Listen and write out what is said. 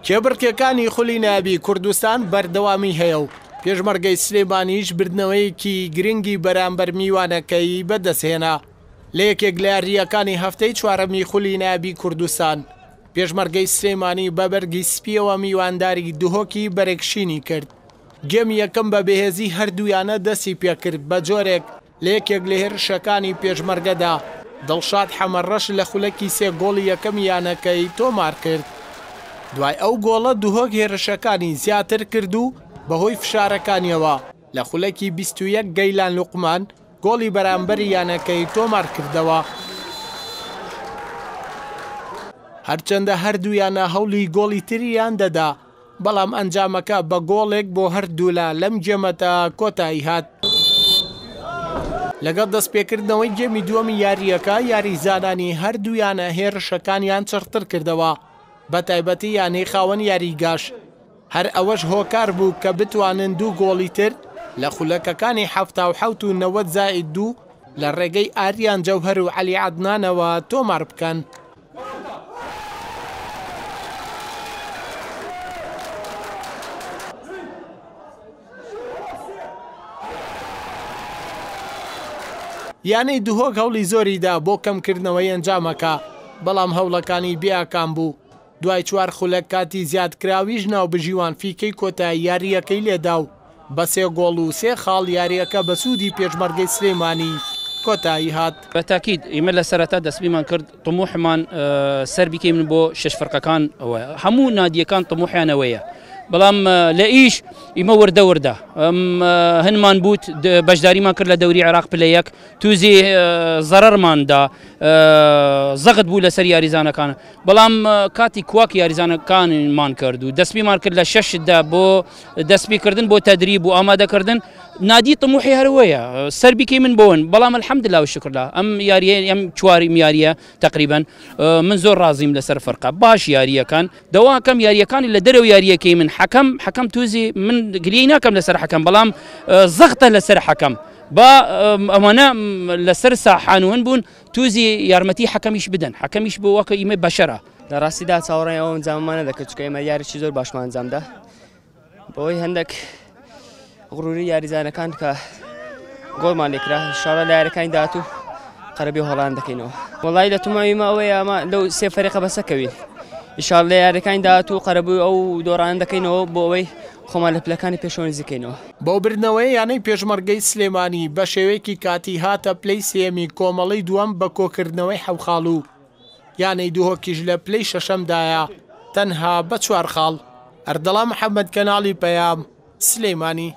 کێبڕکێکانی خولی نایابی کوردستان بەردەوامی هەیە و پێشمەرگەی سلێمانیش بردنەوەیەکی گرنگی بەرامبەر میوانەکەی بەدەستهێنا. لە یەکێک لە یارییەکانی هەفتەی چوارەمی خولی نایابی کوردستان، پێشمەرگەی سلێمانی بە بەرگی سپییەوە میوانداری دهۆکی بەرگشینی کرد. گێمی یەکەم بە بەهێزی هەردوو یانە دەستی پێکرد بە جۆرێک لە یەکێک لە هێرشەکانی پێشمەرگەدا دڵشاد حەمەڕەش لە خولەکی سێ گۆڵی یەکەمی یانەکەی تۆمارکرد. دوای ئەو گۆڵە دهۆک هێرشەکانی زیاتر کرد و بەهۆی فشارەکانیەوە لە خولەکی 21 گەیلان لوقمان گۆڵی بەرامبەری یانەکەی تۆمارکردەوە. هەرچەندە هەردوو یانە هەوڵی گۆڵی تریان دەدا، بەڵام ئەنجامەکە بە گۆڵێک بۆ هەردوولا لەم گێمەدا کۆتایی هات. لەگەڵ دەستپێکردنەوەی گێمی دووەمی یارییەکە، یاریزانانی هەردوو یانە هێرشەکانیان چڕتر کردەوە، بەتایبەتی یانەی خاوەن یاریگاش. هەر ئەوەش هۆکار بوو کە بتوانن دوو گۆڵی تر لە خولەکەکانی 77 و 90 زائید دوو لە ڕێگەی ئاریان جەوهەر و عەلی عەدنانەوە تۆمار بکەن. یانەی دهۆک هەوڵی زۆریدا بۆ کەمکردنەوەی ئەنجامەکە، بەڵام هەوڵەکانی بێ ئاکام بوو. دوای چوار خولەک کاتی زیادکراویش ناوبژیوان فیکەی کۆتایی یارییەکەی لێدا و بە سێ گۆڵ و سێ خاڵ یارییەکە بە سوودی پێشمەرگەی سلێمانی کۆتایی هات. بە تاکید ئیمە لە سەرەتا دەستپیمان کرد طموحمان سەر بیکەیمن بۆ شەش فرقەکان ئەوە هەموو نادیەکان طموحیان ئەوەیە بەڵام لە ئیش ئیمە وردە وردە هەنمان بوت بەشداریمان کرد لە دەوری عێراق پلە یەک توزی زەرەرماندا زەغت بوو لەسەر یاریزانەکان بەڵام کاتی کواک یاریزانەکانمان کرد و دەستپیمان کرد لە شەشدا بۆ دەستپیکردن بۆ تەدریب و ئامادەکردن نادی طموحی هەروەیە سەر بیکەی من بۆن بەڵام الحمدلله و شکرلا ئەم یاریە ئەم چواری یاریە تقریبا من زۆر ڕازیم لەسەر فەرقە باش یاریەکان دەواکەم یاریەکانی لە دەرەوە یاریەکەی من حەکەم حەکەم توزی من گلیەی ناکەم لەسەر حەکەم بەڵام زەختە لەسەر حەکەم با ئەمانە لەسەر ساحانون بوون توزی یارمەتی حەکەمیش بدەن حەکەمیش بۆ وەکە ئیمە بەشەرە. لە ڕاستیدا چاوەڕێی ئەو ئەنجامەمان نەدەکرد چونکە ئێمە یاریی زۆر باشمان ئەنجامدا بەوەی هەندێک غروری یاریزانەکان کە گۆڵمان لێکرا شاڵە لە یاریەکانی داهاتوو قەرەبی هۆڵان دەکەینەوە وڵی لە توماوی مە ئەوەیە ئەمە لەو سێ فەریقە بەسەکەوین ئیشاڵ لە یاریەکانی داهاتوو قەرەبووی ئەو دۆڕان دەکەینەوە بۆ ئەوەی خۆمان لە پلەکانی پێشەوە نزیکەینەوە. بەو بردنەوەیە یانەی پێشمەرگەی سلێمانی بە شێوەیەکی کاتی هاتە پلەی سێیەمی کۆمەڵەی دووەم بە کۆکردنەوەی حەو خاڵ و یانەی دهۆکیش لە پلەی شەشەمدایە تەنها بە چوار خاڵ. ئەردەڵان محەمەد کەناڵی پەیام، سلێمانی.